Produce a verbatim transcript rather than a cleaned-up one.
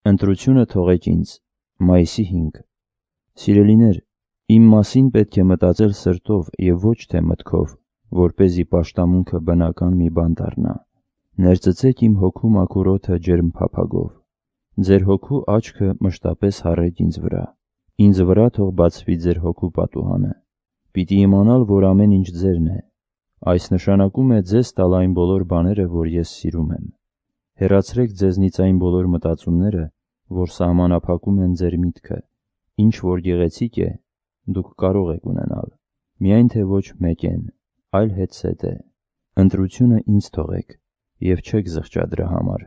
Ընտրությունը թողեք ինձ։ Մայիսի հինգ։ Սիրելիներ, իմ մասին պետք է մտածել սրտով և ոչ թե մտքով, որպեսզի պաշտամունքը բնական մի բան դառնա։ Ներծծեք իմ հոգու մաքուր օդը ջերմ փափագով։ Ձեր հոգու աչքը մշտապես հառեք ինձ վրա։ Ինձ վրա թող բացվի ձեր հոգու պատուհանը։ Պիտի իմանալ, որ ամեն ինչ ձերն է։ Այս նշանակում է ձեզ տալ այն բոլոր բաները, որ ես սիրում եմ։ Հեռացրեք ձեզնից այն բոլոր մտածումները, որ սահմանափակում են ձեր միտքը։ Ինչ որ գեղեցիկ է, դուք կարող եք ունենալ, միայն թե ոչ մեկեն, այլ հետզհետե։ Ընտրությունը ինձ թողեք, և չեք զղջա դրա համար։